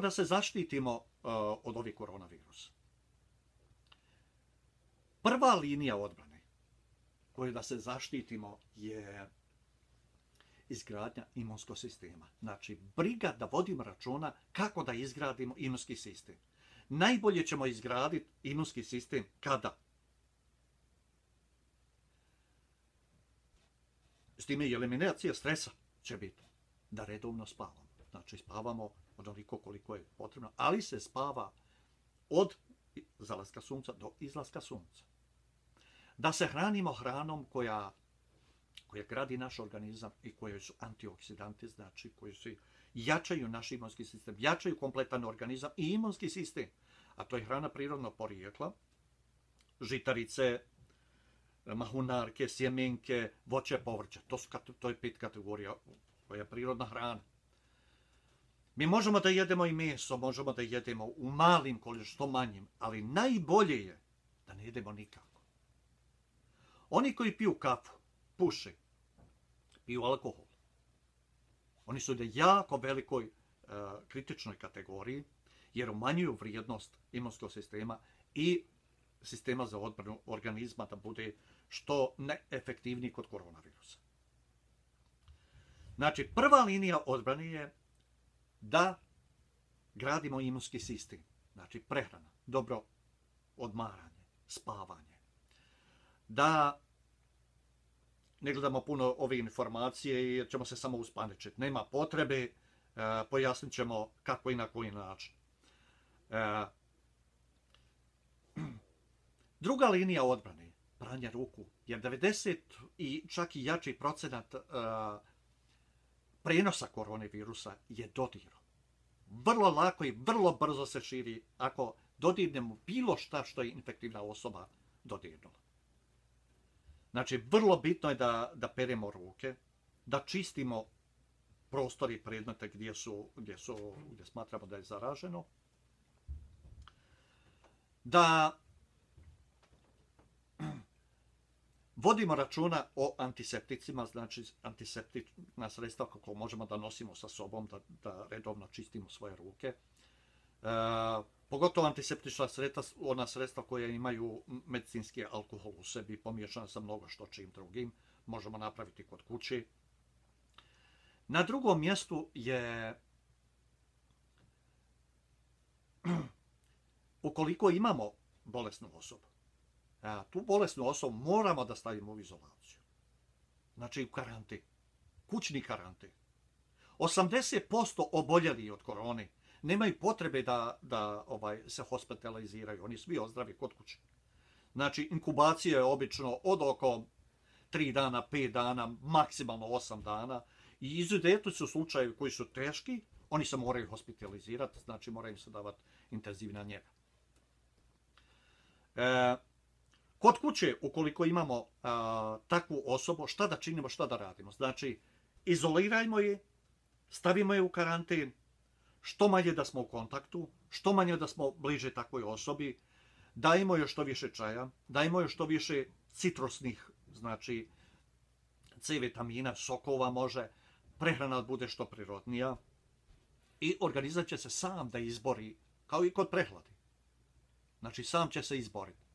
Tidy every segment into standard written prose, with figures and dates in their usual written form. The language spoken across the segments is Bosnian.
da se zaštitimo od ovih koronavirusa? Prva linija odbrane koju da se zaštitimo je izgradnja imunskog sistema. Znači, briga da vodimo računa kako da izgradimo imunski sistem. Najbolje ćemo izgraditi imunski sistem kada? S time i eliminacija stresa će biti da redovno spavamo. Znači, spavamo onoliko koliko je potrebno, ali se spava od zalaska sunca do izlaska sunca. Da se hranimo hranom koja gradi naš organizam i koje su antioksidanti, znači koji su jačaju naš imunski sistem, jačaju kompletan organizam i imunski sistem. A to je hrana prirodnog porijekla, žitarice, mahunarke, sjemenke, voće, povrće. To je 5 kategorija koja je prirodna hrana. Mi možemo da jedemo i meso, možemo da jedemo u malim količinama, što manjim, ali najbolje je da ne jedemo nikako. Oni koji piju kafu, puše, piju alkohol. Oni su na jako velikoj kritičnoj kategoriji, jer umanjuju vrijednost imunskog sistema i sistema za odbranu organizma da bude što neefektivniji kod koronavirusa. Znači, prva linija odbrane je da gradimo imunski sistem. Znači, prehrana, dobro odmaranje, spavanje. Da ne gledamo puno ove informacije jer ćemo se samo uspaničiti. Nema potrebe, pojasnit ćemo kako i na koji način. Druga linija odbrane, pranje ruku, jer 90 i čak i jači procenat prenosa koronavirusa je dodirom. Vrlo lako i vrlo brzo se širi ako dodirnemo bilo šta što je infektivna osoba dodirnula. Znači, vrlo bitno je da peremo ruke, da čistimo prostor i predmete gdje smatramo da je zaraženo, da vodimo računa o antisepticima, znači antiseptična sredstva kako možemo da nosimo sa sobom, da redovno čistimo svoje ruke. Pogotovo antiseptična sredstva, ona sredstva koja imaju medicinski alkohol u sebi, pomiješana sa mnogo što čim drugim, možemo napraviti kod kuće. Na drugom mjestu je, ukoliko imamo bolesnu osobu, tu bolesnu osobu moramo da stavimo u izolaciju. Znači u karantin, kućni karantin. 80% oboljeli od korone nemaju potrebe da se hospitaliziraju, oni svi ozdravi kod kuće. Znači inkubacija je obično od oko 3 dana, 5 dana, maksimalno 8 dana i izuzetno su slučajevi koji su teški, oni se moraju hospitalizirati, znači moraju se davati intenzivna njega. Kod kuće, ukoliko imamo takvu osobu, šta da činimo, šta da radimo? Znači, izolirajmo je, stavimo je u karantin, što manje da smo u kontaktu, što manje da smo bliže takvoj osobi, dajmo joj što više čaja, dajmo joj što više citrusnih, znači C vitamina, sokova može, prehrana bude što prirodnija i organizam će se sam da izbori, kao i kod prehlade. Znači, sam će se izboriti.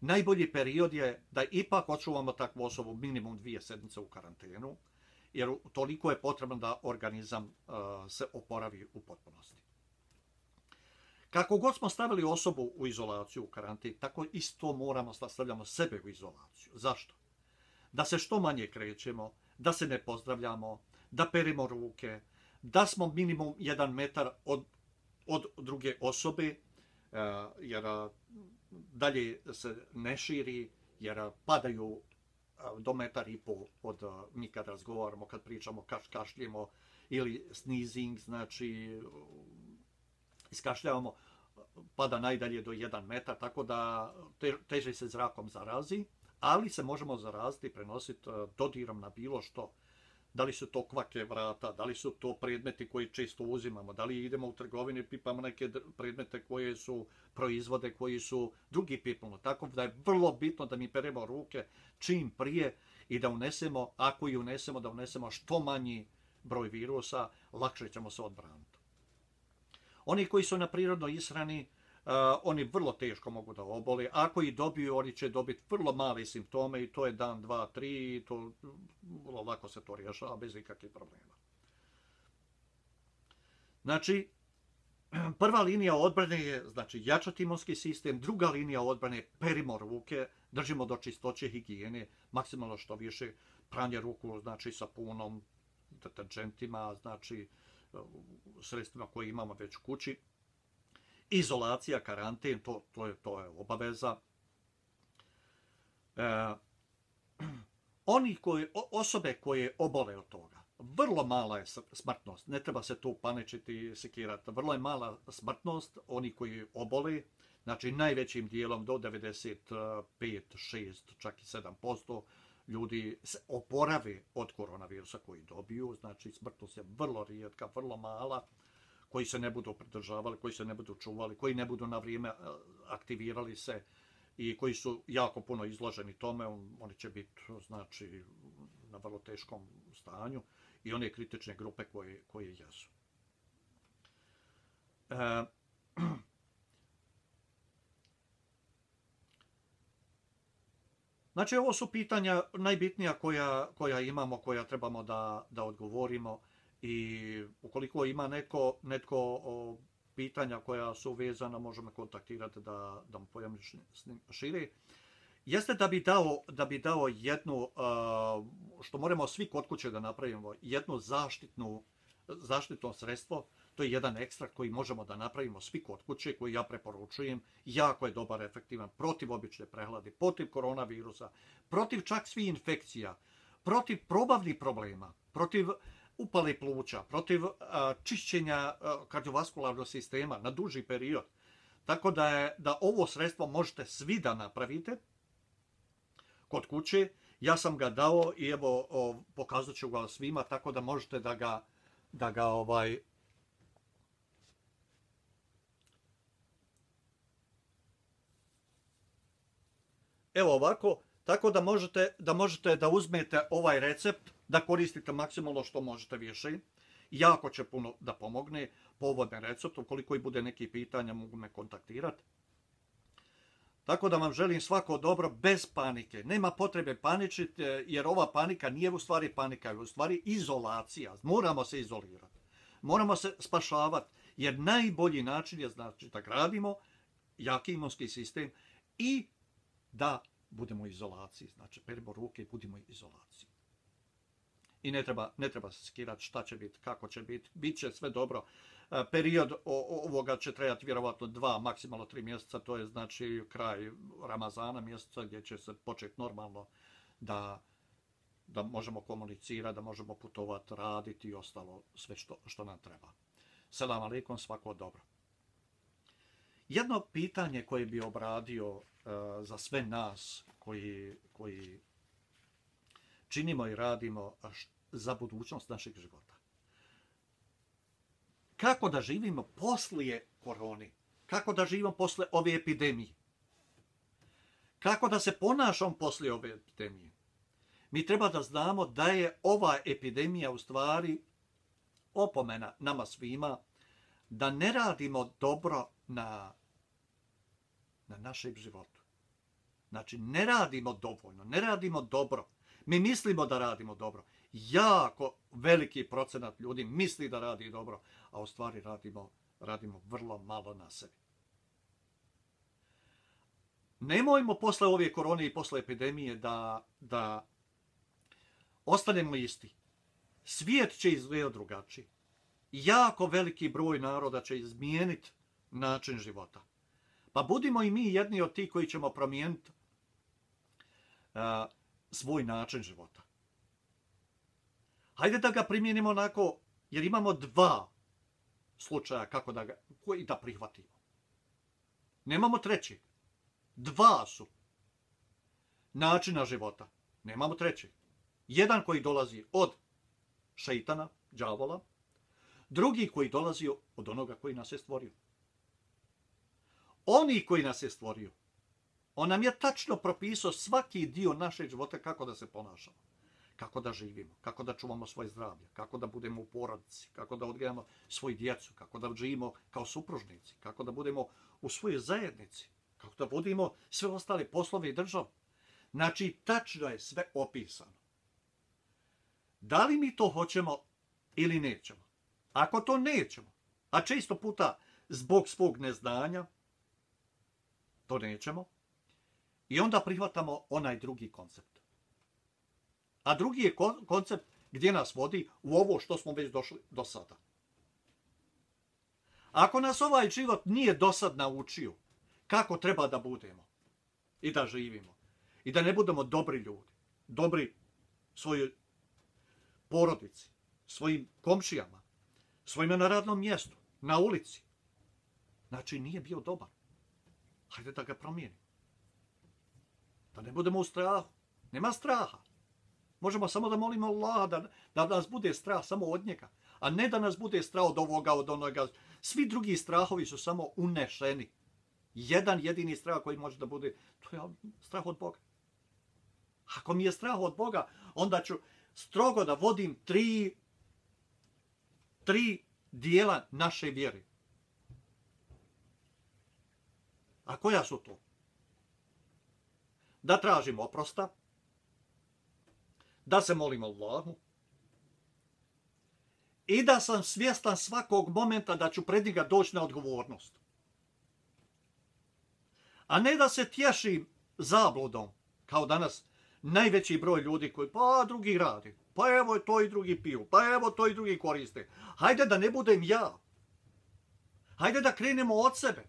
Najbolji period je da ipak očuvamo takvu osobu minimum 2 sedmice u karantenu, jer toliko je potrebno da organizam se oporavi u potpunosti. Kako god smo stavili osobu u izolaciju, u karantin, tako isto moramo da stavljamo sebe u izolaciju. Zašto? Da se što manje krećemo, da se ne pozdravljamo, da peremo ruke, da smo minimum 1 metar od druge osobe, jer dalje se ne širi, jer padaju do 1,5 m od mi kad razgovaramo, kad pričamo, kašljemo ili sneezing, znači iskašljavamo, pada najdalje do 1 metar, tako da teže se zrakom zarazi, ali se možemo zaraziti i prenositi dodirom na bilo što. Da li su to kvake vrata, da li su to predmeti koji često uzimamo, da li idemo u trgovini i pipamo neke predmete koje su proizvode, koji su drugi pipamo. Tako da je vrlo bitno da mi peremo ruke čim prije i da unesemo, ako i unesemo, da unesemo što manji broj virusa, lakše ćemo se odbraniti. Oni koji su na prirodnoj ishrani, oni vrlo teško mogu da obole. Ako i dobiju, oni će dobiti vrlo male simptome i to je dan, 2, 3, to vrlo lako se to rješava bez ikakvih problema. Znači, prva linija odbrane je znači, jačati imunski sistem, druga linija odbrane je perimo ruke, držimo do čistoće, higijene, maksimalno što više pranje ruku, znači sapunom, deterđentima, znači sredstvima koje imamo već u kući. Izolacija, karanten, to je obaveza. Osobe koje obole od toga, vrlo mala je smrtnost, ne treba se tu paničiti, sekirati, vrlo je mala smrtnost, oni koji obole, znači najvećim dijelom do 95, 6, čak i 7% ljudi se oporave od koronavirusa koji dobiju, znači smrtnost je vrlo rijetka, vrlo mala, koji se ne budu pridržavali, koji se ne budu čuvali, koji ne budu na vrijeme aktivirali se i koji su jako puno izloženi tome, oni će biti znači, na vrlo teškom stanju i one kritične grupe koje jesu. Znači, ovo su pitanja najbitnija koja imamo, koja trebamo da odgovorimo i ukoliko ima netko pitanja koja su vezana, možemo kontaktirati da mu pojasnim šire. Jeste da bi dao jednu, što moramo svi kod kuće da napravimo, jedno zaštitno sredstvo, to je jedan ekstrakt koji možemo da napravimo svi kod kuće, koji ja preporučujem, jako je dobar, efektivan, protiv obične prehlade, protiv koronavirusa, protiv čak svih infekcija, protiv probavnih problema, protiv upale pluća, protiv čišćenja kardiovaskularnog sistema na duži period. Tako da ovo sredstvo možete svi da napravite kod kuće. Ja sam ga dao i evo pokazat ću ga svima, tako da možete da ga evo ovako, tako da možete da uzmete ovaj recept, da koristite maksimalno što možete više. Jako će puno da pomogne po ovom receptu. Ukoliko i bude neki pitanja, mogu me kontaktirati. Tako da vam želim svako dobro, bez panike. Nema potrebe paničiti, jer ova panika nije u stvari panika, je u stvari izolacija. Moramo se izolirati. Moramo se spašavati, jer najbolji način je znači da gradimo jaki imunski sistem i da budemo u izolaciji. Znači, perimo ruke i budimo u izolaciji. I ne treba se skirati šta će biti, kako će biti. Biće sve dobro. Period ovoga će trajati vjerovatno 2, maksimalno 3 mjeseca. To je znači kraj Ramazana mjeseca gdje će se početi normalno da možemo komunicirati, da možemo putovati, raditi i ostalo sve što nam treba. Selam alejkum, svako dobro. Jedno pitanje koje bi obradio za sve nas koji činimo i radimo za budućnost našeg života. Kako da živimo poslije korone? Kako da živimo poslije ove epidemije? Kako da se ponašamo poslije ove epidemije? Mi treba da znamo da je ova epidemija u stvari opomena nama svima da ne radimo dobro na našem životu. Znači, ne radimo dovoljno, ne radimo dobro. Mi mislimo da radimo dobro. Jako veliki procenat ljudi misli da radi dobro, a u stvari radimo vrlo malo na sebi. Nemojmo posle ove korone i posle epidemije da ostanemo isti. Svijet će izgledati drugačije. Jako veliki broj naroda će izmijeniti način života. Pa budimo i mi jedni od tih koji ćemo promijeniti svoj način života. Hajde da ga primijenimo onako, jer imamo 2 slučaja kako koji da prihvatimo. Nemamo trećeg. 2 su načina života. Nemamo trećeg. Jedan koji dolazi od šeitana, đavola, drugi koji dolazi od onoga koji nas je stvorio. Oni koji nas je stvorio, on nam je tačno propisao svaki dio našeg života kako da se ponašamo. kako da živimo, kako da čuvamo svoje zdravlje, kako da budemo u porodici, kako da odgajamo svoju djecu, kako da živimo kao supružnici, kako da budemo u svojoj zajednici, kako da vodimo sve ostale poslove i državu. Znači, tačno je sve opisano. Da li mi to hoćemo ili nećemo? Ako to nećemo, a često puta zbog svog neznanja, to nećemo, i onda prihvatamo onaj drugi koncept. A drugi je koncept gdje nas vodi u ovo što smo već došli do sada. Ako nas ovaj život nije do sad naučio kako treba da budemo i da živimo, i da ne budemo dobri ljudi, dobri svojoj porodici, svojim komšijama, svojima na radnom mjestu, na ulici, znači nije bio dobar. Hajde da ga promijenimo. Da ne budemo u strahu. Nema straha. Možemo samo da molimo Allaha da nas bude strah samo od njega, a ne da nas bude strah od ovoga, od onoga. Svi drugi strahovi su samo unešeni. Jedan jedini strah koji može da bude, to je strah od Boga. Ako mi je strah od Boga, onda ću strogo da vodim tri dijela naše vjere. A koja su to? Da tražimo oprosta, da se molimo Allahu i da sam svjestan svakog momenta da ću pred njega doći na odgovornost. A ne da se tješim zabludom, kao danas najveći broj ljudi koji, pa drugi radi, pa evo to i drugi piju, pa evo to i drugi koriste. Hajde da ne budem ja. Hajde da krenemo od sebe.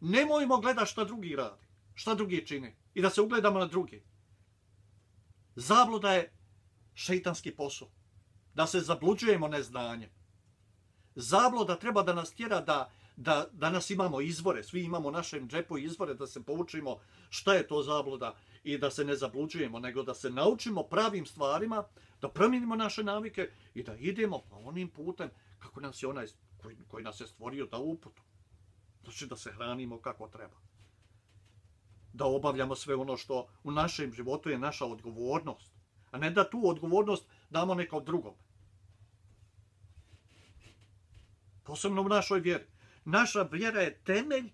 Nemojmo gledati šta drugi radi, šta drugi čine i da se ugledamo na drugi. Zabluda je šeitanski posao. Da se zabluđujemo neznanjem. Zabluda treba da nas tjera da danas imamo izvore, svi imamo u našem džepu izvore, da se poučimo šta je to zabluda i da se ne zabluđujemo, nego da se naučimo pravim stvarima, da promijenimo naše navike i da idemo po onim putem kako nas je onaj koji nas je stvorio da uputu. Znači da se hranimo kako treba. Da obavljamo sve ono što u našem životu je naša odgovornost, a ne da tu odgovornost damo nekom drugom. Posebno u našoj vjeri. Naša vjera je temelj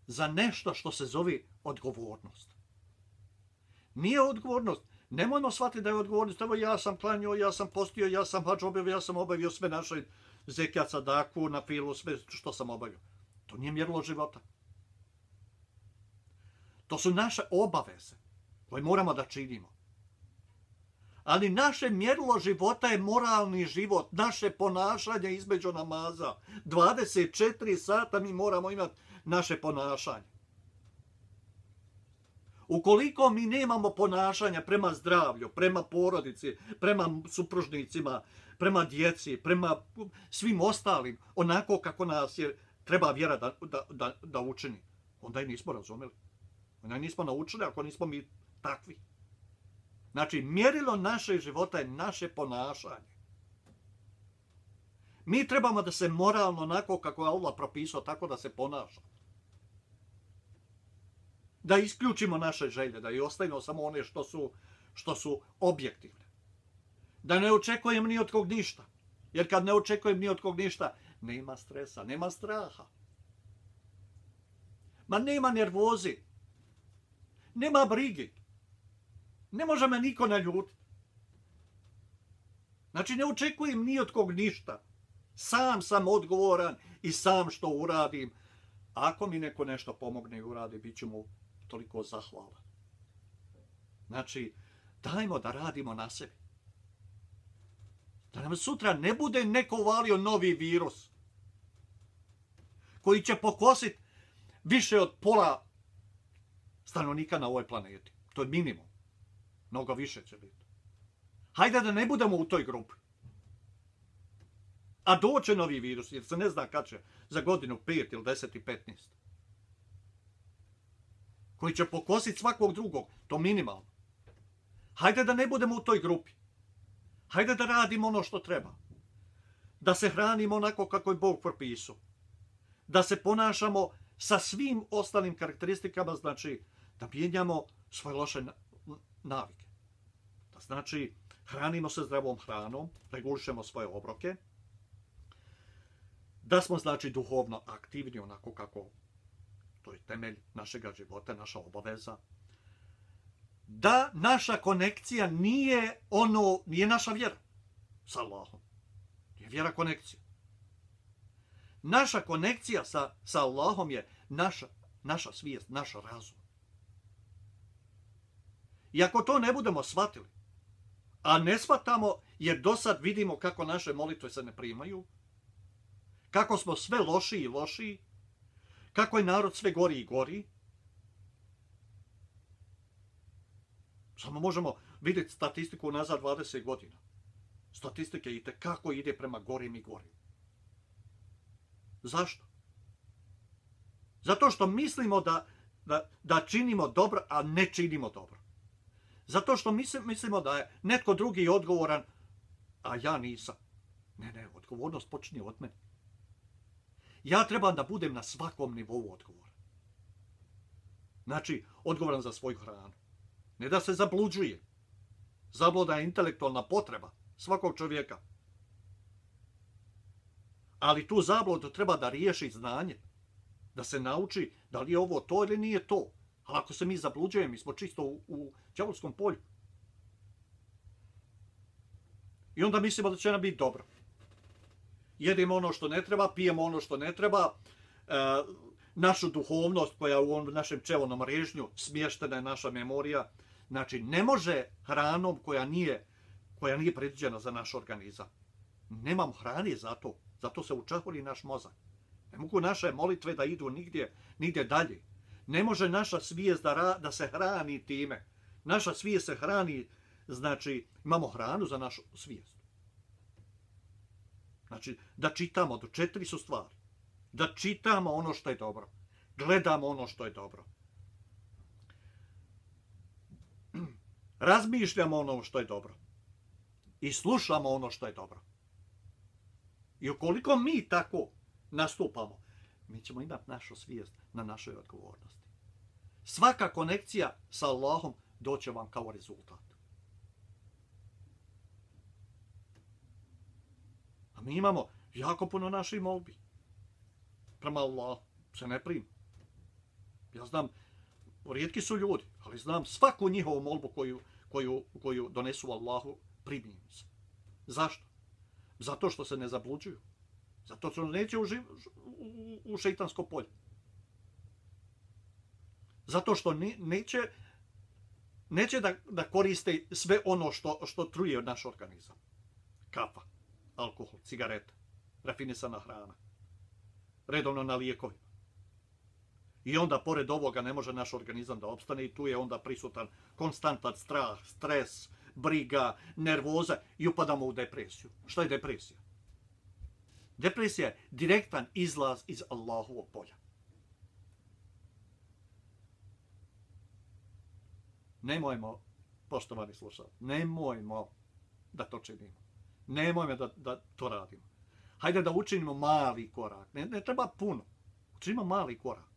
za nešto što se zove odgovornost. Nije odgovornost. Nemojmo shvatiti da je odgovornost. Evo ja sam klanjao, ja sam postio, ja sam hadž obavio, ja sam obavio sve naše zekijat, sadaku, na filu, sve što sam obavio. To nije mjerilo života. To su naše obaveze koje moramo da činimo. Ali naše mjerilo života je moralni život, naše ponašanje između namaza. 24 sata mi moramo imati naše ponašanje. Ukoliko mi nemamo ponašanja prema zdravlju, prema porodici, prema supružnicima, prema djeci, prema svim ostalim, onako kako nas je treba vjera da učini, onda je nismo razumeli. Onda je nismo naučili ako nismo mi takvi. Znači, mjerilo naše života je naše ponašanje. Mi trebamo da se moralno, onako kako je Allah propisao, tako da se ponaša. Da isključimo naše želje, da i ostavimo samo one što su objektivne. Da ne očekujem ni od kog ništa. Jer kad ne očekujem ni od kog ništa, nema stresa, nema straha. Ma nema nervozi. Nema brigi. Ne može me niko naljutiti. Znači, ne očekujem ni od kog ništa. Sam sam odgovoran i sam što uradim. Ako mi neko nešto pomogne i uradi, bit ću mu toliko zahvalan. Znači, dajmo da radimo na sebi. Da nam sutra ne bude neko uvalio novi virus koji će pokositi više od pola stanovnika na ovoj planeti. To je minimum. Mnogo više će biti. Hajde da ne budemo u toj grupi. A doće novi virus, jer se ne zna kad će, za godinu 5 ili 10 i 15. Koji će pokositi svakog drugog, to minimalno. Hajde da ne budemo u toj grupi. Hajde da radimo ono što treba. Da se hranimo onako kako je Bog propisao. Da se ponašamo sa svim ostalim karakteristikama, znači da mijenjamo svoje loše navike. Da znači, hranimo se zdravom hranom, regulišemo svoje obroke, da smo, znači, duhovno aktivni, onako kako to je temelj našega života, naša obaveza, da naša konekcija nije naša vjera sa Allahom. Nije vjera konekcija. Naša konekcija sa Allahom je naša svijest, naš razum. I ako to ne budemo shvatili, a ne shvatamo jer do sad vidimo kako naše molitve se ne primaju, kako smo sve lošiji i lošiji, kako je narod sve gori i gori, samo možemo vidjeti statistiku nazad 20 godina. Statistike itekako ide prema gorim i gorim. Zašto? Zato što mislimo da činimo dobro, a ne činimo dobro. Zato što mislimo da je netko drugi odgovoran, a ja nisam. Ne, odgovornost počinje od mene. Ja trebam da budem na svakom nivou odgovoran. Znači, odgovoran za svoju hranu. Ne da se zabluđuje. Zabluda je intelektualna potreba svakog čovjeka. Ali tu zabludu treba da riješi znanje. Da se nauči da li je ovo to ili nije to. Ali ako se mi zabluđujemo, mi smo čisto u đavolskom polju. I onda mislimo da će nam biti dobro. Jedemo ono što ne treba, pijemo ono što ne treba, našu duhovnost koja je u našem čevonom režnju, smještena je naša memorija. Znači, ne može hranom koja nije predviđena za naš organizam. Nemam hrane za to. Zato se učahuli naš mozak. Ne mogu naše molitve da idu nigdje dalje. Ne može naša svijest da se hrani time. Naša svijest se hrani, znači imamo hranu za našu svijest. Znači, da čitamo, do 4 su stvari. Da čitamo ono što je dobro. Gledamo ono što je dobro. Razmišljamo ono što je dobro. I slušamo ono što je dobro. I ukoliko mi tako nastupamo, mi ćemo imati našu svijest na našoj odgovornosti. Svaka konekcija sa Allahom doće vam kao rezultat. A mi imamo jako puno naših molbi. Prema Allahu se ne prima. Ja znam, rijetki su ljudi, ali znam svaku njihovu molbu koju donesu Allahu, primim se. Zašto? Zato što se ne zabluđuju. Zato što neće u šeitansko polje. Zato što neće da koriste sve ono što truje naš organizam. Kafa, alkohol, cigareta, rafinisana hrana, redovno na lijekovima. I onda, pored ovoga, ne može naš organizam da opstane i tu je onda prisutan konstantan strah, stres, briga, nervoza i upadamo u depresiju. Šta je depresija? Depresija je direktan izlaz iz Allahovog polja. Nemojmo, poštovani slušalci, nemojmo da to činimo. Nemojmo da to radimo. Hajde da učinimo mali korak. Ne treba puno. Učinimo mali korak.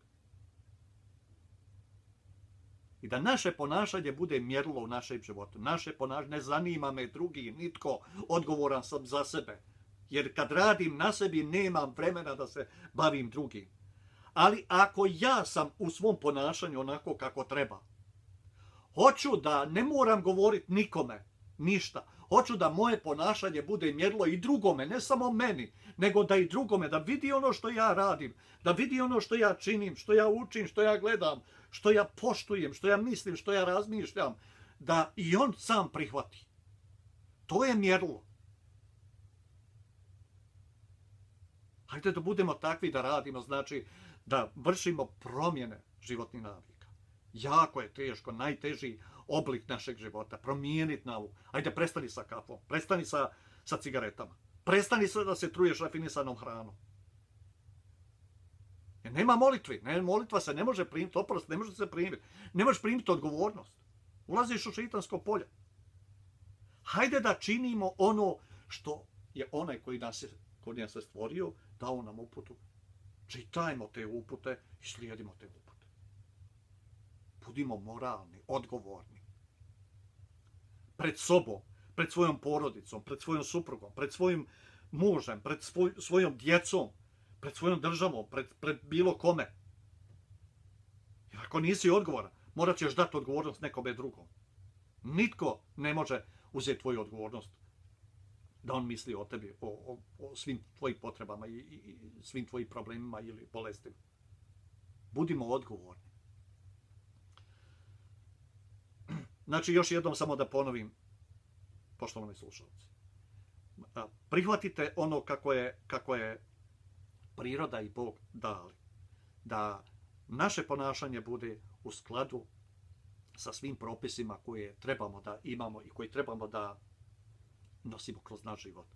I da naše ponašanje bude mjerilo u našem životu. Naše ponašanje, ne zanima me drugi, nitko, odgovoran sam za sebe. Jer kad radim na sebi, nemam vremena da se bavim drugim. Ali ako ja sam u svom ponašanju onako kako treba, hoću da ne moram govoriti nikome ništa. Hoću da moje ponašanje bude mjerilo i drugome, ne samo meni, nego da i drugome, da vidi ono što ja radim, da vidi ono što ja činim, što ja učim, što ja gledam, što ja poštujem, što ja mislim, što ja razmišljam, da i on sam prihvati. To je mjerilo. Hajde da budemo takvi da radimo, znači da vršimo promjene životnih navika. Jako je teško, najteži oblik našeg života, promijeniti naviku. Hajde, prestani sa kafom, prestani sa cigaretama, prestani da se truješ rafinisanom hranom. Jer nema molitvi, molitva se ne može primiti, oprost, ne može se primiti. Ne možeš primiti odgovornost. Ulaziš u šeitansko polje. Hajde da činimo ono što je onaj koji nas je stvorio, dao nam uputu. Čitajmo te upute i slijedimo te upute. Budimo moralni, odgovorni. pred sobom, pred svojom porodicom, pred svojom suprugom, pred svojim mužem, pred svojom djecom, pred svojom državom, pred bilo kome. Jer ako nisi odgovoran, morat ćeš dati odgovornost nekome drugom. Nitko ne može uzeti tvoju odgovornost da on misli o tebi, o svim tvojim potrebama i svim tvojim problemima ili bolestima. Budimo odgovorni. Znači, još jednom samo da ponovim, poštovani slušalci. Prihvatite ono kako je priroda i Bog dali. Da naše ponašanje bude u skladu sa svim propisima koje trebamo da imamo i koje trebamo da nosimo kroz naš život.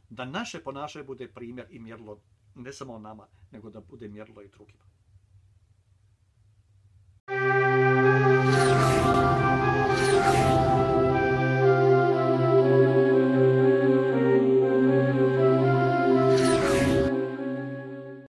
Da naše ponašanje bude primjer i mjerilo ne samo nama, nego da bude mjerilo i drugima.